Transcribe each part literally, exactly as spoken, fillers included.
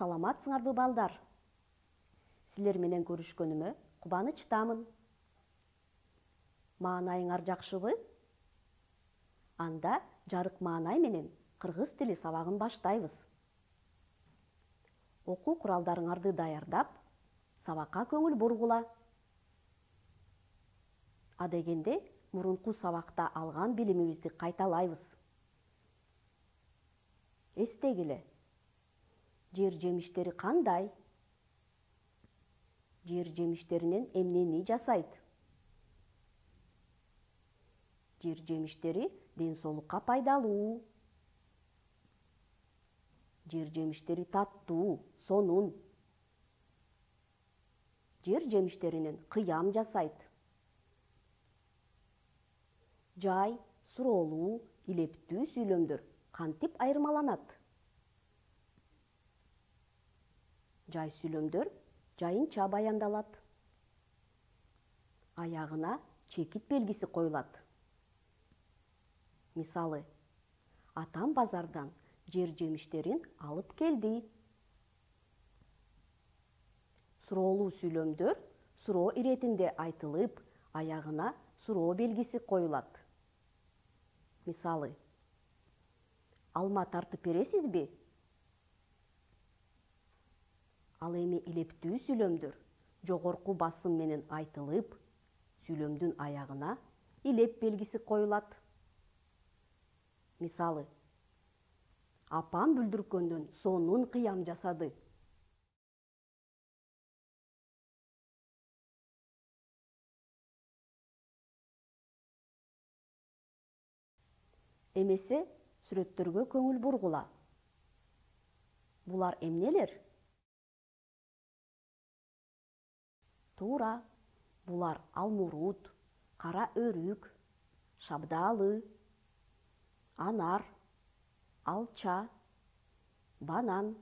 Саламатсыңарбы балдар? Силер менен көрүшкөнүмө кубанычтамын. Маанайыңар жакшыбы? Анда жарык маанай менен кыргыз тили сабагын баштайбыз. Окуу куралдарыңарды даярдап, сабакка көңүл бургула. Адегенде мурунку сабакта алган билимибизди кайталайбыз. Эстегиле. Жер жемиштери кандай? Жер жемиштеринен эмнени жасайт? Жер жемиштери ден соолукка пайдалуу. Жер жемиштери таттуу, сонун. Жер жемиштеринен кыям жасайт. Жай, суроолуу, илептүү сүйлөмдөр кантип айырмаланат? Жай сүйлөмдөр жайынча баяндалат. Аягына чекит белгиси коюлат. Мисалы, атам базардан жер жемиштерин алып келди. Суроолуу сүйлөмдөр суроо иретинде айтылып, аягына суроо белгиси коюлат. Мисалы, алма тартып бересизби? Ал эми илептүү сүйлөмдөр жогорку басым менен айтылып, сүйлөмдүн аягына илеп белгиси коюлат. Мисалы, апам бүлдүркөндөн сонун кыям жасады. Эмесе сүрөттөргө көңүл бургула. Булар эмнелер? Туура, булар алмурут, кара өрүк, шабдалы, анар, алча, банан.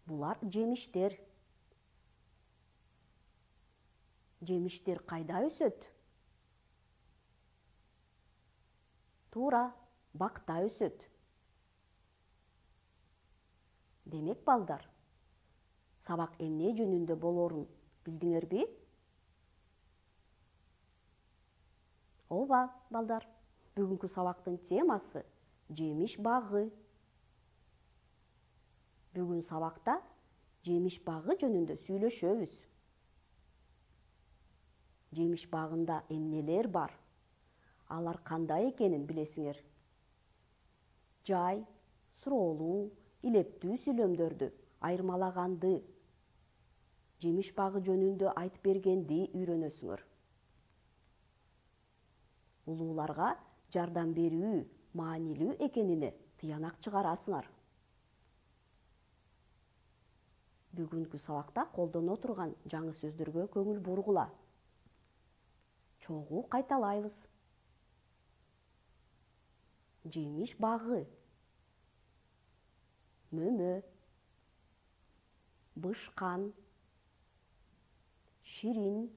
Булар жемиштер. Жемиштер кайда өсөт? Туура, бакта өсөт. Демек балдар, сабак эмне жөнүндө болоорун билдиңерби? Ооба, балдар, бүгүнкү сабактын темасы жемиш багы. Бүгүн сабакта жемиш багы жөнүндө сүйлөшөбүз. Жемиш багында эмнелер бар? Алар кандай экенин билесиңер? Жай, суроолуу, илептүү сүйлөмдөрдү айырмалаганды, жемиш багы жөнүндө айтып бергенди үйрөнөсүңөр. Улууларга жардам берүү маанилүү экенине тыянак чыгарасыңар. Бүгүнкү сабакта колдоно турган жаңы сөздөргө көңүл бургула. Чогуу кайталайбыз. Жемиш багы. Мөмө. Бышкан. Ширин.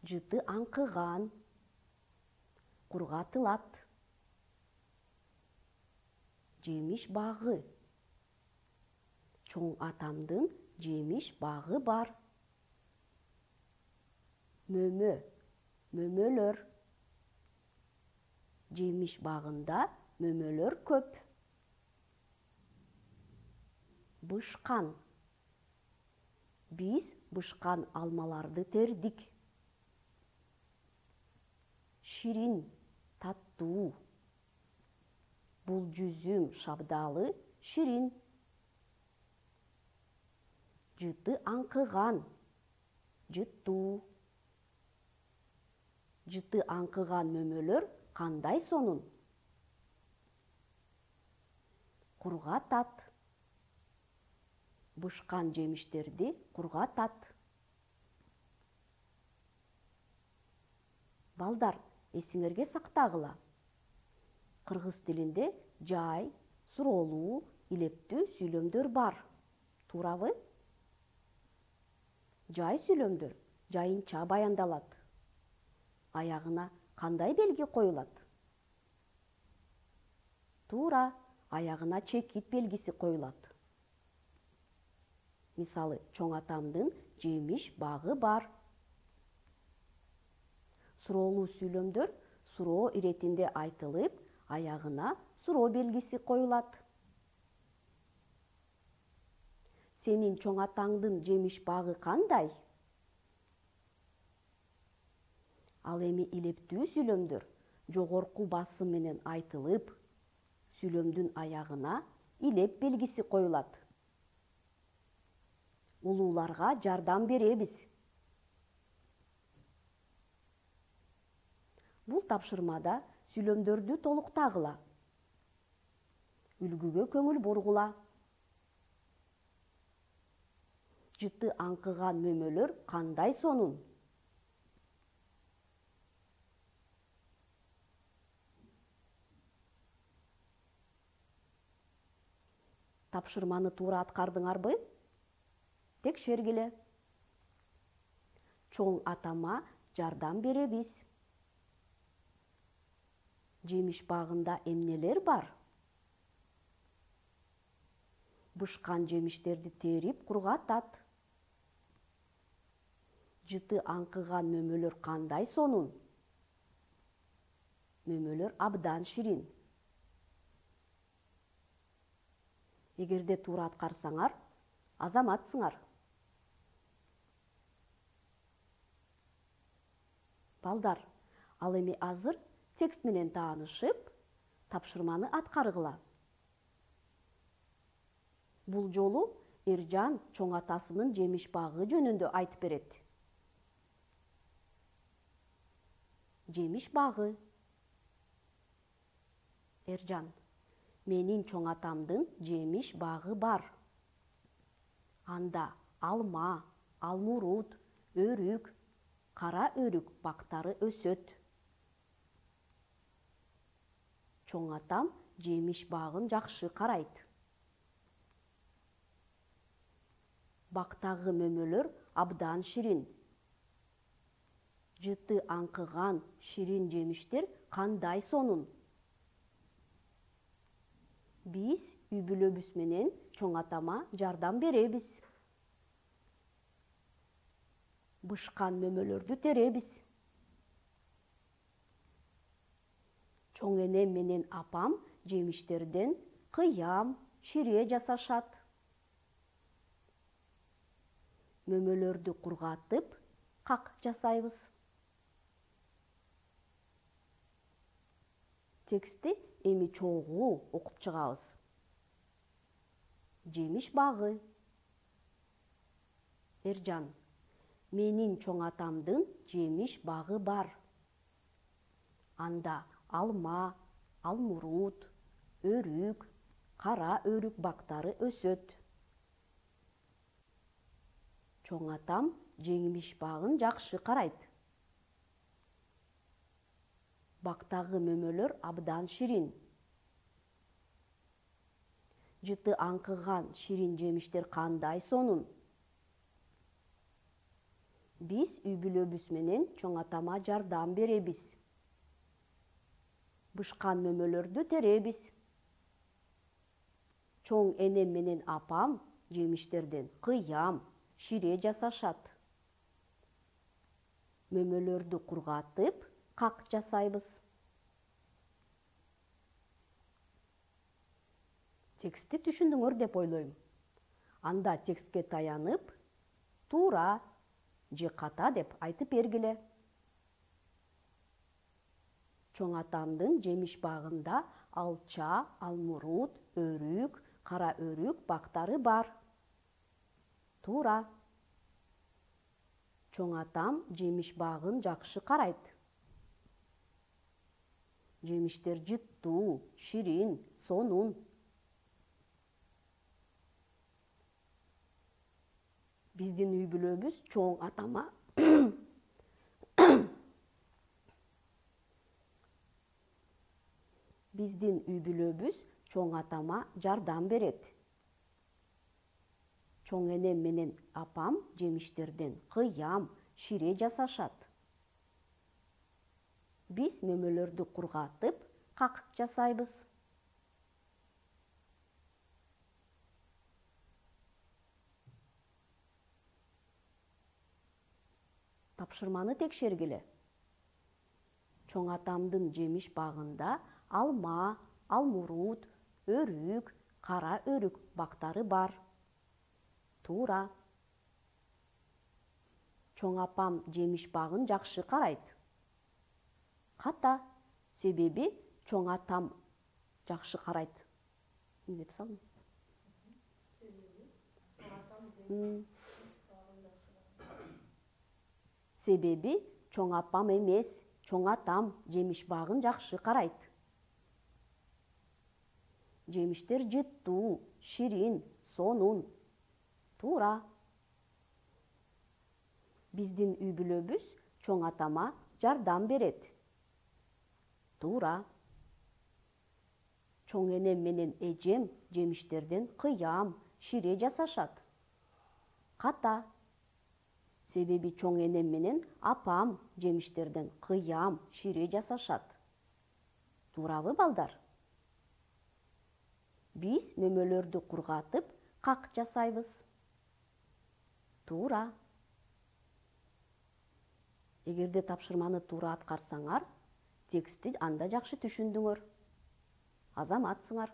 Жыты аңкыган. Кургатылат. Жемиш багы. Чоң атамдын жемиш багы бар. Мөмө. Мөмөлөр. Жемиш багында мөмөлөр көп. Бышкан. Биз бышкан алмаларды тердик. Ширин, таттуу. Бул жүзүм шабдалы ширин. Жыты аңкыган, жыттуу. Жыты аңкыган мөмөлөр кандай сонун? Кургатат. Бышкан жемиштерди кургатат. Балдар, эсиңерге сактагыла. Кыргыз тилинде жай, суроолуу, илептүү сүйлөмдөр бар. Туурабы? Жай сүйлөмдөр жайынча баяндалат. Аягына кандай белги коюлат? Туура, аягына чекит белгиси коюлат. Мисалы, чоң атамдын жемиш багы бар. Суроолуу сүйлөмдөр суроо иретинде айтылып, аягына суроо белгиси коюлат. Сенин чоң атаңдын жемиш багы кандай? Ал эми илептүү сүйлөмдөр жогорку басым менен айтылып, сүйлөмдүн аягына илеп белгиси коюлат. Улууларга жардам беребиз. Бул тапшырмада сүйлөмдөрдү толуктагыла. Үлгүгө көңүл бургула. Жыты аңкыган мөмөлөр кандай сонун? Тапшырманы туура аткардыңарбы? Текшергиле. Чоң атама жардам беребиз. Жемиш багында эмнелер бар? Бышкан жемиштерди терип кургатат. Жыты аңкыган мөмөлөр кандай сонун? Мөмөлөр абдан ширин. Эгерде туура аткарсаңар, азаматсыңар. Балдар, ал эми азыр текст менен таанышып, тапшырманы аткаргыла. Бул жолу Эржан чоң атасынын жемиш багы жөнүндө айтып берет. Жемиш багы. Эржан: менин чоң атамдын жемиш багы бар. Анда алма, алмурут, өрүк, кара өрүк бактары өсөт. Чоң атам жемиш багын жакшы карайт. Бактагы мөмөлөр абдан ширин. Жыты аңкыган ширин жемиштер кандай сонун? Биз үй бүлөбүз менен чоң атама жардам беребиз. Бышкан мөмөлөрдү теребиз. Чоң энем менен апам жемиштерден кыям, шире жасашат. Мөмөлөрдү кургатып, как жасайбыз. Текстти эми чогуу окуп чыгабыз. Жемиш багы. Эржан: менин чоң атамдын жемиш багы бар. Анда алма, алмурут, өрүк, кара өрүк бактары өсөт. Чоң атам жемиш багын жакшы карайт. Бактагы мөмөлөр абдан ширин. Жыты аңкыган ширин жемиштер кандай сонун? Биз үй бүлөбүз менен чоң атама жардам беребиз. Бышкан мөмөлөрдү теребиз. Чоң энем менен апам жемиштерден кыям, шире жасашат. Мөмөлөрдү кургатып, как жасайбыз. Текстти түшүндүңөр деп ойлойм. Анда текстке таянып, туура же ката деп айтып бергиле. Чоң атамдын жемиш багында алча, алмурут, өрүк, кара өрүк бактары бар. Туура. Чоң атам жемиш багын жакшы карайт. Жемиштер жыттуу, ширин, сонун. Биздин үй бүлөбүз чоң атама Биздин үй бүлөбүз чоң атама жардам берет. Чоң энем менен апам жемиштерден кыям, шире жасашат. Биз мөмөлөрдү кургатып, как жасайбыз. тапшырманы текшергиле. Чоң атамдын жемиш багында алма, алмурут, өрүк, кара өрүк бактары бар. Туура. Чоң апам жемиш багын жакшы карайт. Ката, себеби чоң атам жакшы карайт. Эмне деп салдым? Себеби чоң апам эмес, чоң атам жемиш багын жакшы карайт. Жемиштер жыттуу, ширин, сонун. Туура. Биздин үй бүлөбүз чоң атама жардам берет. Туура. Чоң энем менен эжем жемиштерден кыям, шире жасашат. Ката. Себеби чоң энем менен апам жемиштерден кыям, шире жасашат. Туурабы, балдар? Биз мөмөлөрдү кургатып, как жасайбыз. Туура. Эгерде тапшырманы туура аткарсаңар, текстти анда жакшы түшүндүңөр. Азаматсыңар.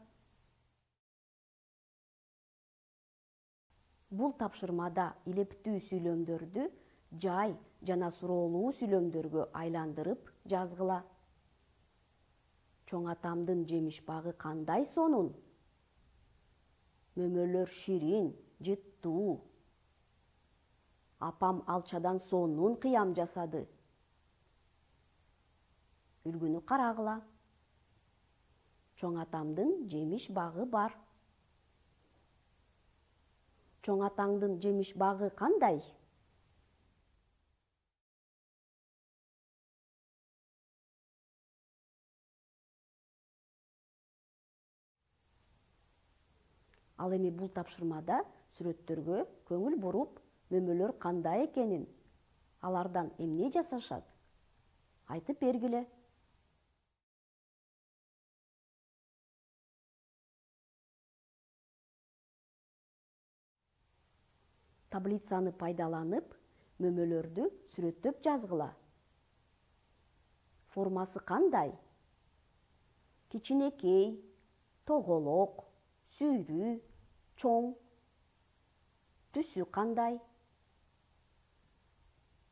Бул тапшырмада илептүү сүйлөмдөрдү жай жана суроолуу сүйлөмдөргө айландырып жазгыла. Чоң атамдын жемиш багы кандай сонун? Мөмөлөр ширин, жыттуу. Апам алчадан сонун кыям жасады. Үлгүнү карагыла. Чоң атамдын жемиш багы бар. Чоң атаңдын жемиш багы кандай? Ал эми бул тапшырмада сүрөттөргө көңүл буруп, мөмөлөр кандай экенин, алардан эмне жасашат? Айтып бергиле. Таблицаны пайдаланып, мөмөлөрдү сүрөттөп жазгыла. Формасы кандай? Кичинекей, тоголок, сүйрүү, чоң. Түсү кандай?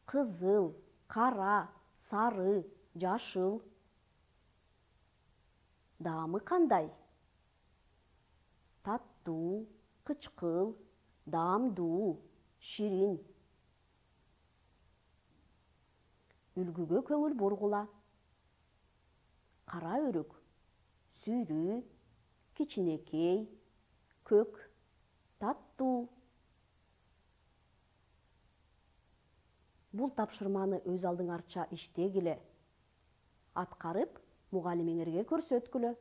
Кызыл, кара, сары, жашыл. Даамы кандай? Таттуу, кычкыл, даамдуу, ширин. Үлгүгө көңүл бургула. Кара өрүк, сүйрүү, кичинекей, көк, таттуу. Бул тапшырманы өз алдыңарча иштегиле. Аткарып, мугалимиңерге көрсөткүлө.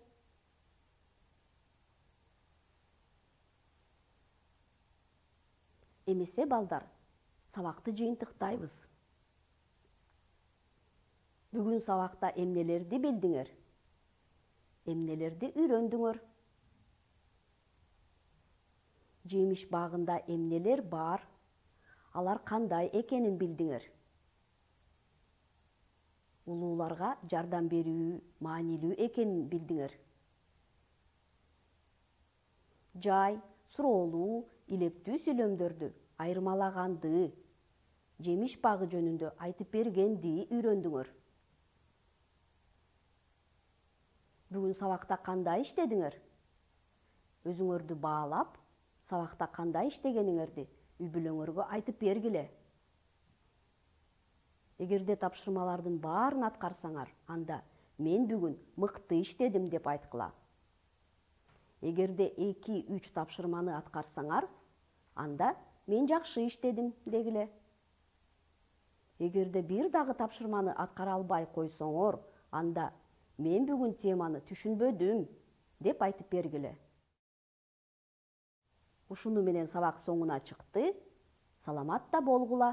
Эмесе, балдар, сабакты жыйынтыктайбыз. Бүгүн сабакта эмнелерди билдиңер? Эмнелерди үйрөндүңөр? Жемиш багында эмнелер бар? Алар кандай экенин билдиңер? Улууларга жардам берүү маанилүү экенин билдиңер. Жай, суроолуу, илептүү сүйлөмдөрдү айырмалаганды, жемиш багы жөнүндө айтып бергенди үйрөндүңөр. Бүгүн сабакта кандай иштедиңер? Өзүңөрдү баалап, сабакта кандай иштегениңерди үй бүлөңөргө айтып бергиле. Эгерде тапшырмалардын баарын аткарсаңар, анда мен бүгүн мыкты иштедим деп айткыла. Эгерде эки-үч тапшырманы аткарсаңар, анда мен жакшы иштедим дегиле. Эгерде бир дагы тапшырманы аткара албай койсоңор, анда мен бүгүн теманы түшүнбөдүм деп айтып бергиле. Ушуну менен сабак соңуна чыкты. Саламатта болгула.